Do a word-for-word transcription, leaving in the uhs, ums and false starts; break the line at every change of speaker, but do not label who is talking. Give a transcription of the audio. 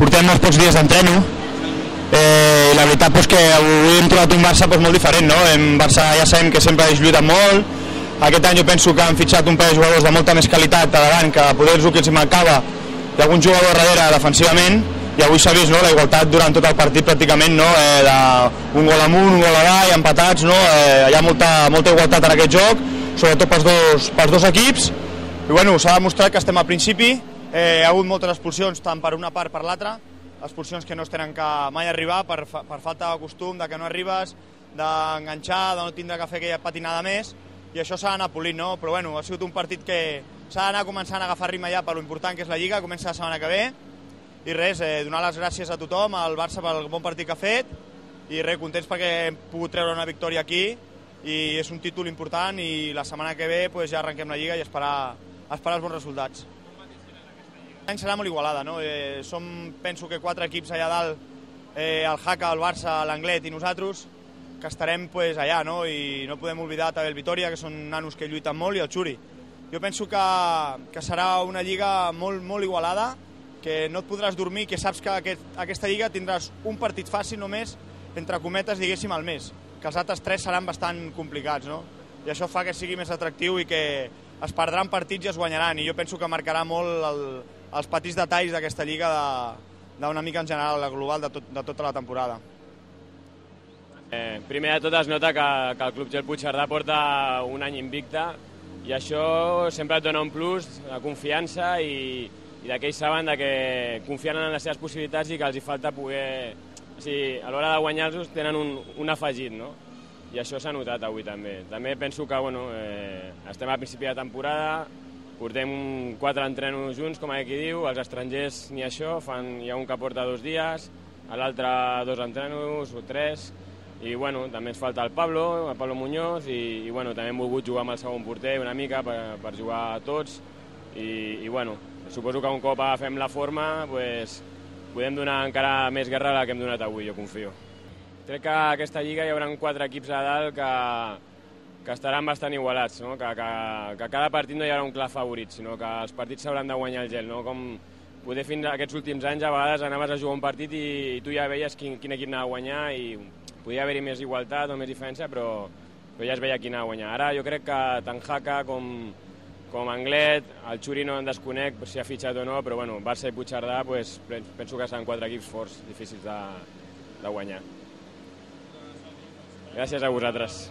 portem molts pocs dies d'entreno eh, i la veritat és que avui hem trobat un Barça doncs, molt diferent, no? En Barça ja sabem que sempre ha lluitat molt, aquest any jo penso que han fitxat un parell de jugadors de molta més qualitat a davant, que poder el que els mancava i algun jugador darrere defensivament, i avui s'ha vist no, la igualtat durant tot el partit pràcticament, no? eh, de un gol amunt, un gol avall, empatats, no? eh, hi ha molta, molta igualtat en aquest joc, sobretot pels dos, pels dos equips, i bueno, s'ha demostrat que estem al principi, eh, hi ha hagut moltes expulsions tant per una part per l'altra, expulsions que no es tenen que mai arribar per, per falta de costum, de que no arribes, d'enganxar, de no tindre que fer aquella patinada més, i això s'ha d'anar polint, no? Però bueno, ha sigut un partit que s'ha d'anar començant a agafar ritme ja per l'important que és la Lliga, comença la setmana que ve, i res, eh, donar les gràcies a tothom, al Barça pel bon partit que ha fet, i res, contents perquè hem pogut treure una victòria aquí, i és un títol important, i la setmana que ve pues, ja arrenquem la Lliga i esperar, esperar els bons resultats. L'any serà molt igualada, no? Eh, som, penso que quatre equips allà dalt, eh, el Jaca, el Barça, l'Anglet i nosaltres, que estarem pues, allà, no? I no podem oblidar també el Vitoria, que són nanos que lluiten molt, i el Xuri. Jo penso que, que serà una lliga molt, molt igualada, que no et podràs dormir, que saps que aquest, aquesta lliga tindràs un partit fàcil només, entre cometes, diguéssim, al mes, que els altres tres seran bastant complicats, no? I això fa que sigui més atractiu i que es perdran partits i es guanyaran, i jo penso que marcarà molt el, els petits detalls d'aquesta lliga d'una mica en general, la global de, tot, de tota la temporada.
Eh, primer de tot es nota que, que el Club Gel Puigcerdà porta un any invicte i això sempre et dona un plus de confiança i, i que ells saben de que confien en les seves possibilitats i que els hi falta poder... O sigui, a l'hora de guanyar-los tenen un, un afegit, no? I això s'ha notat avui també. També penso que bueno, eh, estem a principi de temporada, portem quatre entrenos junts, com aquí diu, els estrangers ni això, fan, hi ha un que porta dos dies, l'altre dos entrenos o tres, i bueno, també ens falta el Pablo, el Pablo Muñoz, i, i bueno, també hem volgut jugar amb el segon porter una mica per, per jugar a tots, i, i bueno, suposo que un cop agafem la forma, pues, podem donar encara més guerra a la que hem donat avui, jo confio. Crec que a aquesta lliga hi haurà quatre equips a dalt que, que estaran bastant igualats, no? que, que, que cada partit no hi haurà un clar favorit, sinó que els partits s'hauran de guanyar el gel, no? Com poder fins a aquests últims anys a vegades anaves a jugar un partit i, i tu ja veies quin, quin equip anava a guanyar i podia haver-hi més igualtat o més diferència, però, però ja es veia qui anava a guanyar. Ara jo crec que tant Jaca com, com Anglet, el Xuri no en desconec si ha fitxat o no, però bueno, Barça i Puigcerdà pues, penso que seran quatre equips forts, difícils de, de guanyar. Gràcies a vosaltres.